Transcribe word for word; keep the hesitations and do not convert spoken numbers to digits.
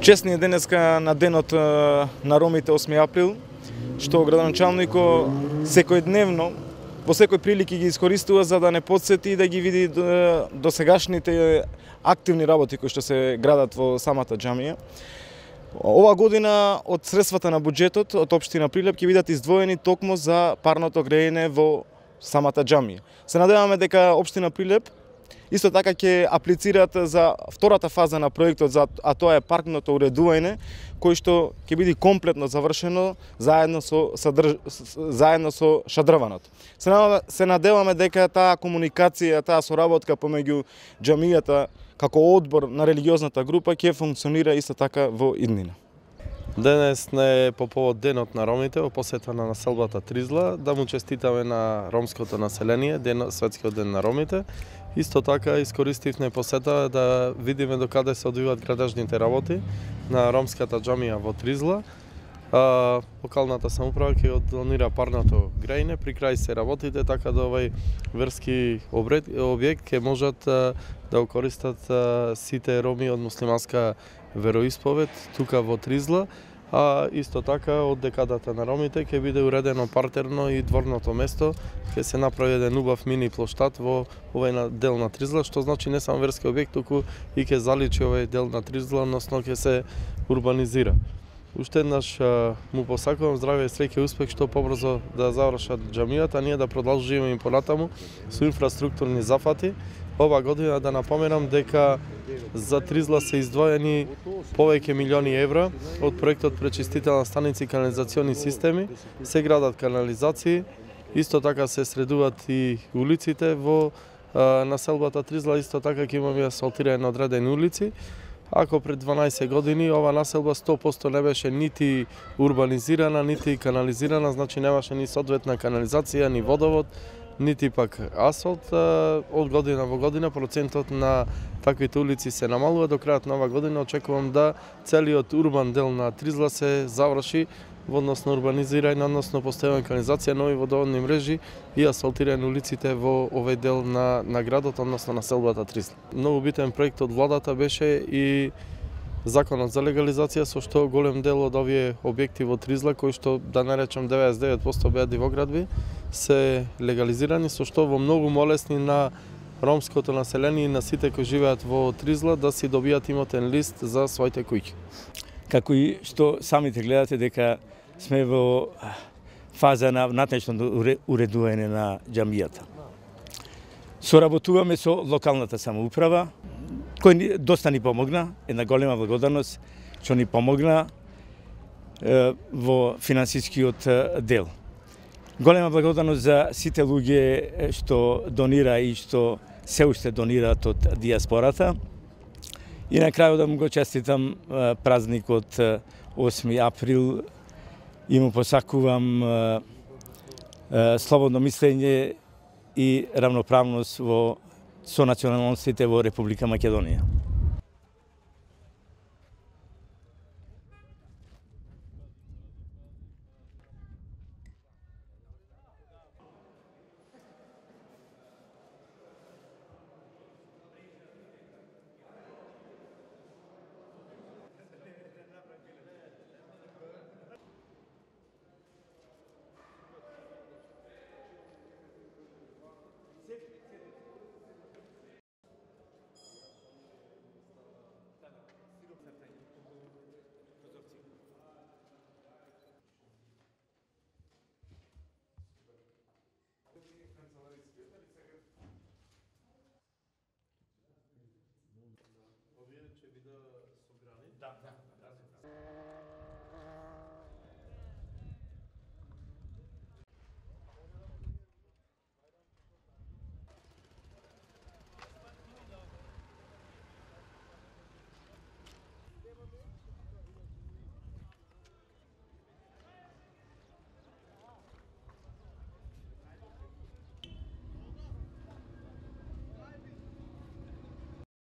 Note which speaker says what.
Speaker 1: Честни е денеска на денот на ромите осми април, што градоначалникот секојдневно во секој прилики ги искористува за да не потсети и да ги види досегашните активни работи кои што се градат во самата џамија. Ова година од средствата на буџетот од општина Прилеп ќе бидат издвоени токму за парното грејење во самата џамија. Се надеваме дека општина Прилеп исто така ќе аплицираат за втората фаза на проектот, а тоа е паркното уредување, кој што ќе биде комплетно завршено заедно со садрж... заедно со шадрваното. Се надеваме, се надеваме дека таа комуникација, таа соработка помеѓу џамијата како одбор на религиозната група ќе функционира исто така во иднина.
Speaker 2: Денес не е по повод денот на ромите, во посета на населбата Тризла, да му честитаме на ромското население, ден, светскиот ден на ромите. Исто така искористивме посета да видиме докаде се одвиваат градежните работи на ромската џамија во Тризла. А, локалната самоуправа ќе донира парното грејне, при крај се работите, така да овај верски објект ќе можат да го користат сите роми од муслиманска вероисповед тука во Тризла, а исто така од декадата на ромите ќе биде уредено партерно и дворното место, ќе се направи еден убав мини плоштад во овој дел на Тризла, што значи не само верски објект, туку и ќе заличи овој дел на Тризла, односно ќе се урбанизира. Уште еднаш му посакувам здравје и среќа и успех што побрзо да завршат џамијата, ние да продолжиме и понатаму со инфраструктурни зафати. Ова година да напоменам дека за Тризла се издвоени повеќе милиони евра од проектот пречистителна станици и канализациони системи, се градат канализации, исто така се средуваат и улиците во населбата Тризла, исто така ќе имаме асфалтирање на одредени улици. Ако пред дванаесет години ова населба сто проценти не беше нити урбанизирана, нити канализирана, значи немаше ни соодветна канализација, ни водовод, нити пак асфалт, од година во година процентот на таквите улици се намалува. До крајот на оваа година очекувам да целиот урбан дел на Тризла се заврши во однос на урбанизирање, односно поставување канализација, нови водоводни мрежи и асфалтирање на улиците во овој дел на, на градот, односно населбата Тризла. Многу битен проект од владата беше и законот за легализација, со што голем дел од овие објекти во Тризла, кои што да наречам деветдесет и девет проценти беа дивоградби, се легализирани, со што во многу молесни на ромското население и на сите кои живеат во Тризла да си добијат имотен лист за своите куќи.
Speaker 3: Како и што самите гледате дека сме во фаза на натечно уредување на џамијата. Соработуваме со локалната самоуправа, кој доста ни помогна, една голема благодарност што ни помогна е, во финансискиот дел. Голема благодарност за сите луѓе што донира и што се уште донираат од диаспората. И на крајот да му го честитам празникот осми април и му посакувам слободно мислење и равноправност во со националностите во Република Македонија.
Speaker 2: Овие ќе бидат собрани? Да, да, да.